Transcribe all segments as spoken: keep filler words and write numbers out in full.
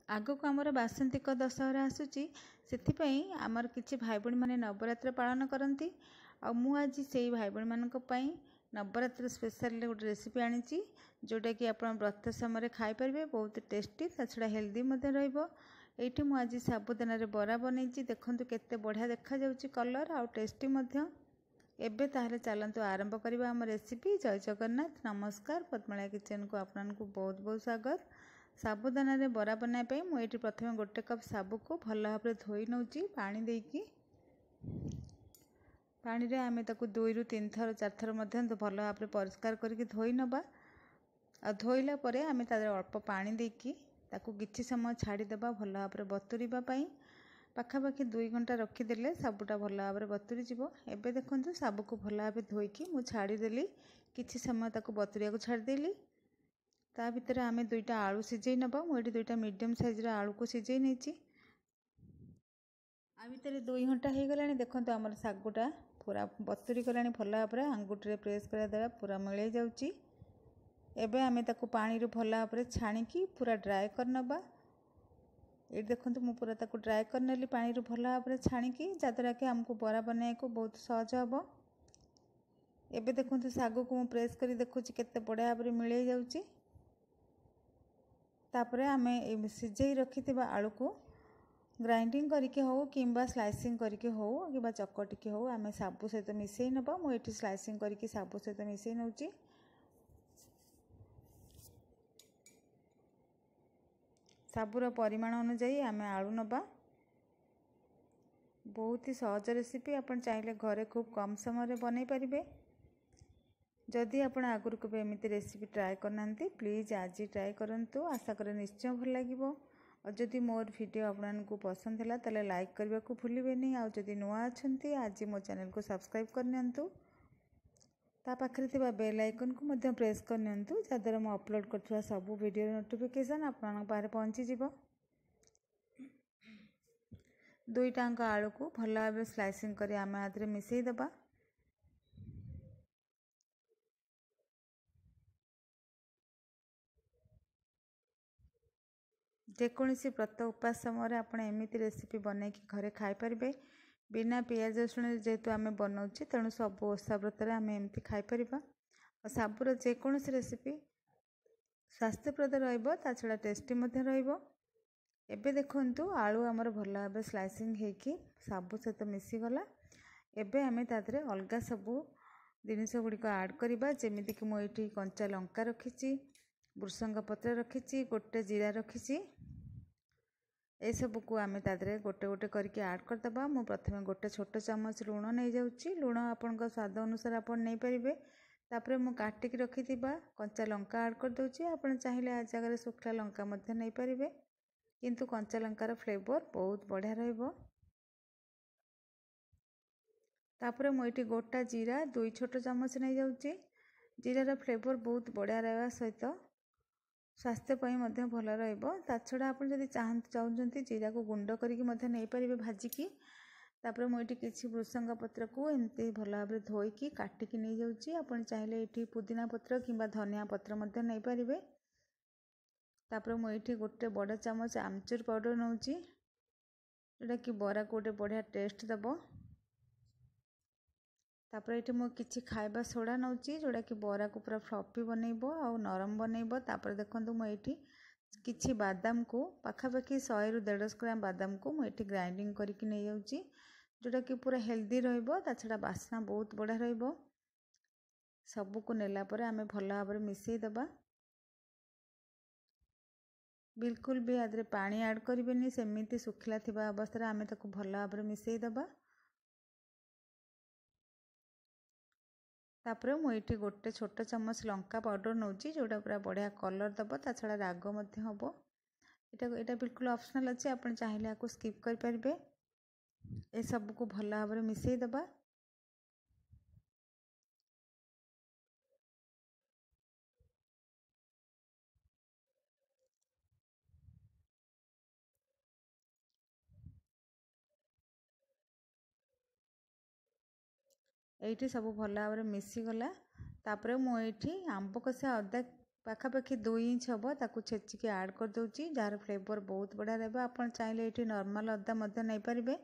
ଆଗକୁ ଆମର ବାସନ୍ତିକ ଦଶହରା ଆସୁଛି, ସେଥିପାଇଁ ଆମର କିଛି ଭାଇ ଭଉଣୀମାନେ ନବରାତ୍ର ପାଳନ କରନ୍ତି। ଆଉ ମୁଁ ଆଜି ସେଇ ଭାଇ ଭଉଣୀମାନଙ୍କ ପାଇଁ ନବରାତ୍ର ସ୍ପେଶାଲରେ ଗୋଟେ ରେସିପି ଆଣିଛି, ଯେଉଁଟାକି ଆପଣ ବ୍ରତ ସମୟରେ ଖାଇପାରିବେ। ବହୁତ ଟେଷ୍ଟି, ତା ଛଡ଼ା ହେଲ୍ଦି ମଧ୍ୟ ରହିବ। ଏଇଠି ମୁଁ ଆଜି ସାବୁଦାନାରେ ବରା ବନେଇଛି। ଦେଖନ୍ତୁ କେତେ ବଢ଼ିଆ ଦେଖାଯାଉଛି କଲର୍, ଆଉ ଟେଷ୍ଟି ମଧ୍ୟ। ଏବେ ତାହେଲେ ଚାଲନ୍ତୁ ଆରମ୍ଭ କରିବା ଆମ ରେସିପି। ଜୟ ଜଗନ୍ନାଥ, ନମସ୍କାର। ପଦ୍ମଳା କିଚେନକୁ ଆପଣଙ୍କୁ ବହୁତ ବହୁତ ସ୍ୱାଗତ। ସାବୁଦାନାରେ ବରା ବନାଇବା ପାଇଁ ମୁଁ ଏଇଠି ପ୍ରଥମେ ଗୋଟେ କପ୍ ସାବୁକୁ ଭଲ ଭାବରେ ଧୋଇ ନେଉଛି ପାଣି ଦେଇକି। ପାଣିରେ ଆମେ ତାକୁ ଦୁଇରୁ ତିନି ଥର, ଚାରିଥର ମଧ୍ୟ ଭଲ ଭାବରେ ପରିଷ୍କାର କରିକି ଧୋଇ ନେବା। ଆଉ ଧୋଇଲା ପରେ ଆମେ ତା ଦେହରେ ଅଳ୍ପ ପାଣି ଦେଇକି ତାକୁ କିଛି ସମୟ ଛାଡ଼ିଦେବା ଭଲ ଭାବରେ ବତୁରିବା ପାଇଁ। ପାଖାପାଖି ଦୁଇ ଘଣ୍ଟା ରଖିଦେଲେ ସାବୁଟା ଭଲ ଭାବରେ ବତୁରି ଯିବ। ଏବେ ଦେଖନ୍ତୁ, ସାବୁକୁ ଭଲ ଭାବେ ଧୋଇକି ମୁଁ ଛାଡ଼ିଦେଲି, କିଛି ସମୟ ତାକୁ ବତୁରିବାକୁ ଛାଡ଼ିଦେଲି। ତା ଭିତରେ ଆମେ ଦୁଇଟା ଆଳୁ ସିଝେଇ ନେବା। ମୁଁ ଏଇଠି ଦୁଇଟା ମିଡ଼ିୟମ୍ ସାଇଜ୍ର ଆଳୁକୁ ସିଝେଇ ନେଇଛି। ଆ ଭିତରେ ଦୁଇ ଘଣ୍ଟା ହେଇଗଲାଣି। ଦେଖନ୍ତୁ, ଆମର ଶାଗୁଟା ପୁରା ବତୁରି ଗଲାଣି ଭଲ ଭାବରେ। ଆଙ୍ଗୁଠିରେ ପ୍ରେସ୍ କରିବା ଦ୍ୱାରା ପୁରା ମିଳେଇ ଯାଉଛି। ଏବେ ଆମେ ତାକୁ ପାଣିରୁ ଭଲ ଭାବରେ ଛାଣିକି ପୁରା ଡ୍ରାଏ କରିନେବା। ଏଇଠି ଦେଖନ୍ତୁ, ମୁଁ ପୁରା ତାକୁ ଡ୍ରାଏ କରିନେଲି ପାଣିରୁ ଭଲ ଭାବରେ ଛାଣିକି, ଯାହାଦ୍ୱାରା କି ଆମକୁ ବରା ବନାଇବାକୁ ବହୁତ ସହଜ ହେବ। ଏବେ ଦେଖନ୍ତୁ, ଶାଗକୁ ମୁଁ ପ୍ରେସ୍ କରି ଦେଖୁଛି କେତେ ବଢ଼ିଆ ଭାବରେ ମିଳେଇ ଯାଉଛି। ତାପରେ ଆମେ ସିଝେଇ ରଖିଥିବା ଆଳୁକୁ ଗ୍ରାଇଣ୍ଡିଙ୍ଗ କରିକି ହେଉ କିମ୍ବା ସ୍ଲାଇସିଂ କରିକି ହେଉ କିମ୍ବା ଚକଟିକି ହେଉ, ଆମେ ସାବୁ ସହିତ ମିଶାଇ ନେବା। ମୁଁ ଏଇଠି ସ୍ଲାଇସିଂ କରିକି ସାବୁ ସହିତ ମିଶାଇ ନେଉଛି। ସାବୁର ପରିମାଣ ଅନୁଯାୟୀ ଆମେ ଆଳୁ ନେବା। ବହୁତ ହି ସହଜ ରେସିପି, ଆପଣ ଚାହିଁଲେ ଘରେ ଖୁବ୍ କମ୍ ସମୟରେ ବନାଇ ପାରିବେ। ଯଦି ଆପଣ ଆଗରୁ କେବେ ଏମିତି ରେସିପି ଟ୍ରାଏ କରିନାହାନ୍ତି, ପ୍ଲିଜ୍ ଆଜି ଟ୍ରାଏ କରନ୍ତୁ। ଆଶା କରେ ନିଶ୍ଚୟ ଭଲ ଲାଗିବ। ଆଉ ଯଦି ମୋର ଭିଡ଼ିଓ ଆପଣମାନଙ୍କୁ ପସନ୍ଦ ହେଲା, ତାହେଲେ ଲାଇକ୍ କରିବାକୁ ଭୁଲିବେନି। ଆଉ ଯଦି ନୂଆ ଅଛନ୍ତି, ଆଜି ମୋ ଚ୍ୟାନେଲକୁ ସବସ୍କ୍ରାଇବ୍ କରିନିଅନ୍ତୁ। ତା ପାଖରେ ଥିବା ବେଲ୍ ଆଇକନ୍କୁ ମଧ୍ୟ ପ୍ରେସ୍ କରିନିଅନ୍ତୁ, ଯାହାଦ୍ୱାରା ମୁଁ ଅପଲୋଡ଼ କରୁଥିବା ସବୁ ଭିଡ଼ିଓର ନୋଟିଫିକେସନ୍ ଆପଣଙ୍କ ପାଖରେ ପହଞ୍ଚିଯିବ। ଦୁଇଟାଙ୍କ ଆଳୁକୁ ଭଲ ଭାବେ ସ୍ଲାଇସିଂ କରି ଆମେ ଆ ଦେହରେ ମିଶାଇ ଦେବା। ଯେକୌଣସି ବ୍ରତ ଉପାସ ସମୟରେ ଆପଣ ଏମିତି ରେସିପି ବନେଇକି ଘରେ ଖାଇପାରିବେ। ବିନା ପିଆଜ ରସୁଣରେ ଯେହେତୁ ଆମେ ବନାଉଛେ, ତେଣୁ ସବୁ ଓଷା ବ୍ରତରେ ଆମେ ଏମିତି ଖାଇପାରିବା। ଆଉ ସାବୁର ଯେକୌଣସି ରେସିପି ସ୍ୱାସ୍ଥ୍ୟପ୍ରଦ ରହିବ, ତା ଛଡ଼ା ଟେଷ୍ଟି ମଧ୍ୟ ରହିବ। ଏବେ ଦେଖନ୍ତୁ, ଆଳୁ ଆମର ଭଲ ଭାବେ ସ୍ଲାଇସିଂ ହେଇକି ସାବୁ ସହିତ ମିଶିଗଲା। ଏବେ ଆମେ ତା ଦେହରେ ଅଲଗା ସବୁ ଜିନିଷ ଗୁଡ଼ିକ ଆଡ଼୍ କରିବା। ଯେମିତିକି ମୁଁ ଏଇଠି କଞ୍ଚା ଲଙ୍କା ରଖିଛି, ଭୃସଙ୍ଗ ପତ୍ର ରଖିଛି, ଗୋଟେ ଜିରା ରଖିଛି। ଏସବୁକୁ ଆମେ ତା ଦେହରେ ଗୋଟେ ଗୋଟେ କରିକି ଆଡ଼୍ କରିଦେବା। ମୁଁ ପ୍ରଥମେ ଗୋଟେ ଛୋଟ ଚାମଚ ଲୁଣ ନେଇଯାଉଛି। ଲୁଣ ଆପଣଙ୍କ ସ୍ୱାଦ ଅନୁସାରେ ଆପଣ ନେଇପାରିବେ। ତାପରେ ମୁଁ କାଟିକି ରଖିଥିବା କଞ୍ଚା ଲଙ୍କା ଆଡ଼୍ କରିଦେଉଛି। ଆପଣ ଚାହିଁଲେ ଆ ଜାଗାରେ ଶୁଖିଲା ଲଙ୍କା ମଧ୍ୟ ନେଇପାରିବେ, କିନ୍ତୁ କଞ୍ଚା ଲଙ୍କାର ଫ୍ଲେଭର୍ ବହୁତ ବଢ଼ିଆ ରହିବ। ତାପରେ ମୁଁ ଏଇଠି ଗୋଟା ଜିରା ଦୁଇ ଛୋଟ ଚାମଚ ନେଇଯାଉଛି। ଜିରାର ଫ୍ଲେଭର୍ ବହୁତ ବଢ଼ିଆ ରହିବା ସହିତ ସ୍ୱାସ୍ଥ୍ୟ ପାଇଁ ମଧ୍ୟ ଭଲ ରହିବ। ତା ଛଡ଼ା ଆପଣ ଯଦି ଚାହୁଁଛନ୍ତି, ଜିରାକୁ ଗୁଣ୍ଡ କରିକି ମଧ୍ୟ ନେଇପାରିବେ ଭାଜିକି। ତାପରେ ମୁଁ ଏଇଠି କିଛି ଭୃସଙ୍ଗ ପତ୍ରକୁ ଏମିତି ଭଲ ଭାବରେ ଧୋଇକି କାଟିକି ନେଇଯାଉଛି। ଆପଣ ଚାହିଁଲେ ଏଇଠି ପୁଦିନା ପତ୍ର କିମ୍ବା ଧନିଆ ପତ୍ର ମଧ୍ୟ ନେଇପାରିବେ। ତାପରେ ମୁଁ ଏଇଠି ଗୋଟେ ବଡ଼ ଚାମଚ ଆମଚୁର ପାଉଡ଼ର ନେଉଛି, ଯେଉଁଟାକି ବରାକୁ ଗୋଟେ ବଢ଼ିଆ ଟେଷ୍ଟ ଦେବ। ତାପରେ ଏଇଠି ମୁଁ କିଛି ଖାଇବା ସୋଡ଼ା ନେଉଛି, ଯେଉଁଟାକି ବରାକୁ ପୁରା ଫ୍ଲଫି ବନେଇବ ଆଉ ନରମ ବନେଇବ। ତାପରେ ଦେଖନ୍ତୁ, ମୁଁ ଏଇଠି କିଛି ବାଦାମକୁ, ପାଖାପାଖି ଶହେରୁ ଦେଢ଼ଶହ ଗ୍ରାମ ବାଦାମକୁ ମୁଁ ଏଇଠି ଗ୍ରାଇଣ୍ଡିଙ୍ଗ କରିକି ନେଇଯାଉଛି, ଯେଉଁଟାକି ପୁରା ହେଲ୍ଦି ରହିବ, ତା ଛଡ଼ା ବାସ୍ନା ବହୁତ ବଢ଼ିଆ ରହିବ। ସବୁକୁ ନେଲା ପରେ ଆମେ ଭଲ ଭାବରେ ମିଶାଇ ଦେବା। ବିଲକୁଲ ବି ଆ ଦେହରେ ପାଣି ଆଡ଼୍ କରିବେନି। ସେମିତି ଶୁଖିଲା ଥିବା ଅବସ୍ଥାରେ ଆମେ ତାକୁ ଭଲ ଭାବରେ ମିଶାଇ ଦେବା। ତାପରେ ମୁଁ ଏଇଠି ଗୋଟେ ଛୋଟ ଚାମଚ ଲଙ୍କା ପାଉଡ଼ର ନେଉଛି, ଯେଉଁଟା ପୁରା ବଢ଼ିଆ କଲର୍ ଦେବ, ତା ଛଡ଼ା ରାଗ ମଧ୍ୟ ହେବ। ଏଇଟା ଏଇଟା ବିଲକୁଲ ଅପସନାଲ୍ ଅଛି, ଆପଣ ଚାହିଁଲେ ଏହାକୁ ସ୍କିପ୍ କରିପାରିବେ। ଏସବୁକୁ ଭଲ ଭାବରେ ମିଶାଇ ଦେବା। ଏଇଠି ସବୁ ଭଲ ଭାବରେ ମିଶିଗଲା। ତାପରେ ମୁଁ ଏଇଠି ଆମ୍ବ କଷିଆ ଅଦା ପାଖାପାଖି ଦୁଇ ଇଞ୍ଚ ହେବ, ତାକୁ ଛେଚିକି ଆଡ଼୍ କରିଦେଉଛି, ଯାହାର ଫ୍ଲେଭର୍ ବହୁତ ବଢ଼ିଆ ରହିବ। ଆପଣ ଚାହିଁଲେ ଏଇଠି ନର୍ମାଲ୍ ଅଦା ମଧ୍ୟ ନେଇପାରିବେ।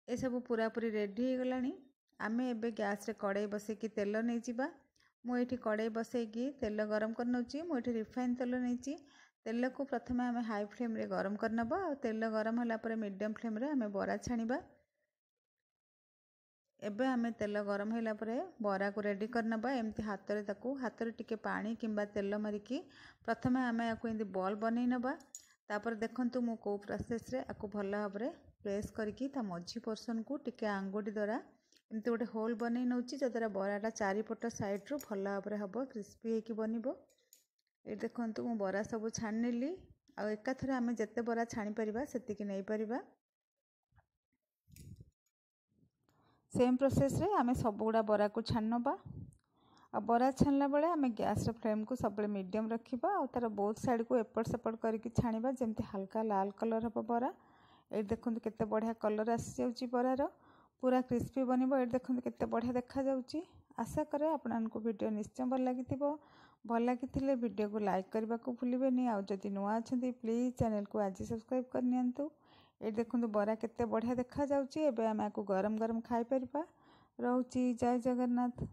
ଏସବୁ ପୁରାପୁରି ରେଡ଼ି ହେଇଗଲାଣି। ଆମେ ଏବେ ଗ୍ୟାସ୍ରେ କଡ଼େଇ ବସେଇକି ତେଲ ନେଇଯିବା। ମୁଁ ଏଇଠି କଡ଼େଇ ବସେଇକି ତେଲ ଗରମ କରିନେଉଛି। ମୁଁ ଏଇଠି ରିଫାଇନ୍ ତେଲ ନେଇଛି। ତେଲକୁ ପ୍ରଥମେ ଆମେ ହାଇ ଫ୍ଲେମ୍ରେ ଗରମ କରିନେବା, ଆଉ ତେଲ ଗରମ ହେଲା ପରେ ମିଡ଼ିୟମ୍ ଫ୍ଲେମ୍ରେ ଆମେ ବରା ଛାଣିବା। ଏବେ ଆମେ ତେଲ ଗରମ ହେଲା ପରେ ବରାକୁ ରେଡ଼ି କରିନେବା। ଏମିତି ହାତରେ ତାକୁ ହାତରେ ଟିକେ ପାଣି କିମ୍ବା ତେଲ ମାରିକି ପ୍ରଥମେ ଆମେ ୟାକୁ ଏମିତି ବଲ୍ ବନେଇ ନେବା। ତାପରେ ଦେଖନ୍ତୁ ମୁଁ କେଉଁ ପ୍ରୋସେସ୍ରେ ଆକୁ ଭଲ ଭାବରେ ପ୍ରେସ୍ କରିକି ତା ମଝି ପୋର୍ସନ୍କୁ ଟିକେ ଆଙ୍ଗୁଠି ଦ୍ୱାରା ଏମିତି ଗୋଟେ ହୋଲ୍ ବନେଇ ନେଉଛି, ଯଦ୍ୱାରା ବରାଟା ଚାରିପଟ ସାଇଡ଼୍ରୁ ଭଲ ଭାବରେ ହେବ, କ୍ରିସ୍ପି ହେଇକି ବନିବ। ଏଇଠି ଦେଖନ୍ତୁ, ମୁଁ ବରା ସବୁ ଛାଣିନେଲି, ଆଉ ଏକାଥରେ ଆମେ ଯେତେ ବରା ଛାଣିପାରିବା ସେତିକି ନେଇପାରିବା। ସେମ୍ ପ୍ରୋସେସ୍ରେ ଆମେ ସବୁଗୁଡ଼ା ବରାକୁ ଛାଣି ନେବା। ଆଉ ବରା ଛାଣିଲା ବେଳେ ଆମେ ଗ୍ୟାସ୍ର ଫ୍ଲେମ୍କୁ ସବୁବେଳେ ମିଡ଼ିୟମ୍ ରଖିବା, ଆଉ ତା'ର ବୋଥ୍ ସାଇଡ଼୍କୁ ଏପଟ ସେପଟ କରିକି ଛାଣିବା, ଯେମିତି ହାଲକା ଲାଲ କଲର୍ ହେବ ବରା। ଏଇଠି ଦେଖନ୍ତୁ କେତେ ବଢ଼ିଆ କଲର୍ ଆସିଯାଉଛି ବରାର, ପୁରା କ୍ରିସ୍ପି ବନିବ। ଏଇଠି ଦେଖନ୍ତୁ କେତେ ବଢ଼ିଆ ଦେଖାଯାଉଛି। ଆଶା କରେ ଆପଣମାନଙ୍କୁ ଭିଡ଼ିଓ ନିଶ୍ଚୟ ଭଲ ଲାଗିଥିବ। ଭଲ ଲାଗିଥିଲେ ଭିଡ଼ିଓକୁ ଲାଇକ୍ କରିବାକୁ ଭୁଲିବେନି, ଆଉ ଯଦି ନୂଆ ଅଛନ୍ତି ପ୍ଲିଜ୍ ଚ୍ୟାନେଲକୁ ଆଜି ସବସ୍କ୍ରାଇବ୍ କରିନିଅନ୍ତୁ। ଏଇଠି ଦେଖନ୍ତୁ ବରା କେତେ ବଢ଼ିଆ ଦେଖାଯାଉଛି। ଏବେ ଆମେ ଆକୁ ଗରମ ଗରମ ଖାଇପାରିବା। ରହୁଛି, ଜୟ ଜଗନ୍ନାଥ।